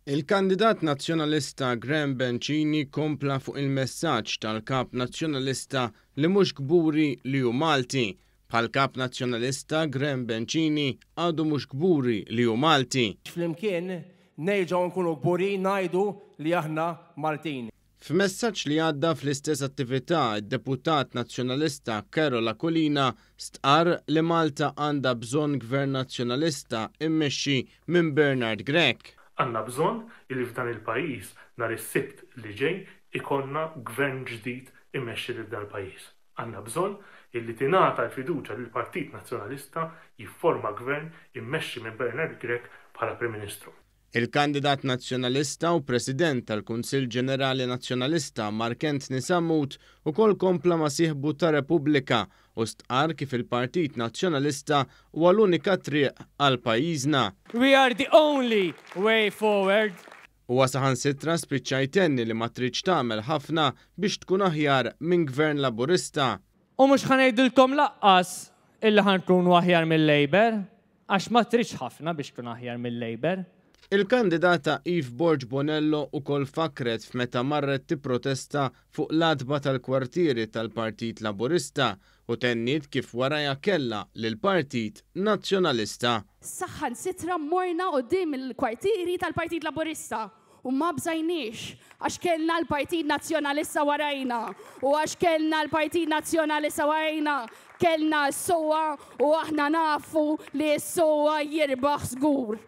Il-kandidat Nazzjonalista Graham Bencini kompla fuq il-messaġġ tal-Kap Nazzjonalista li mhux kburi li hu Malti. Bħall-Kap Nazzjonalista, Graham Bencini għadu mhux kburi li hu Malti. Flimkien nerġgħu nkunu kburin ngħidu li aħna Maltin. F'messaġġ li għadda fl-istess attività, id-deputat Nazzjonalista Karol Aquilina stqarr li Malta għandha bżonn Gvern Nazzjonalista mmexxi minn Bernard Grech. Għandna bżonn illi f'dan il-pajjiż nhar is-Sibt li ġej ikollna Gvern ġdid imexxi lil dan il-pajjiż. Għandna bżonn illi tingħata l-fiduċja lill-Partit Nazzjonalista jifforma Gvern immexxi minn Bernard Grech bħala Prim Ministru. Il-kandidat Nazzjonalista u President tal-Kunsill Ġenerali Nazzjonalista Mark Anthony Sammut ukoll kompla ma' sieħbu ta' Repubblika u stqarr kif il-Partit Nazzjonalista huwa l-unika triq għal pajjiżna. We are the only way forward. Huwa saħansitra spiċċa jtenni li ma tridx tagħmel ħafna biex tkun aħjar minn Gvern Laburista. U mhux ħa ngħidilkom laqqas illi ħa nkunu aħjar mil-Labour. Għax ma tridx ħafna biex tkun aħjar mil-Labour. Il-kandidata Eve Borg Bonello ukoll fakkret f'meta marret tipprotesta fuq l-għatba tal-kwartieri tal-Partit Laburista u tenniet kif warajha kellha lill-Partit Nazzjonalista. Saħansitra morna quddiem il-kwartieri tal-Partit Laburista U ma bżajniex, għax kellna l-Partit Nazzjonalista warajna. U għax kellna l-Partit Nazzjonalista warajna, kellna s-SOA u aħna nafu li s-SOA jirbaħ żgur.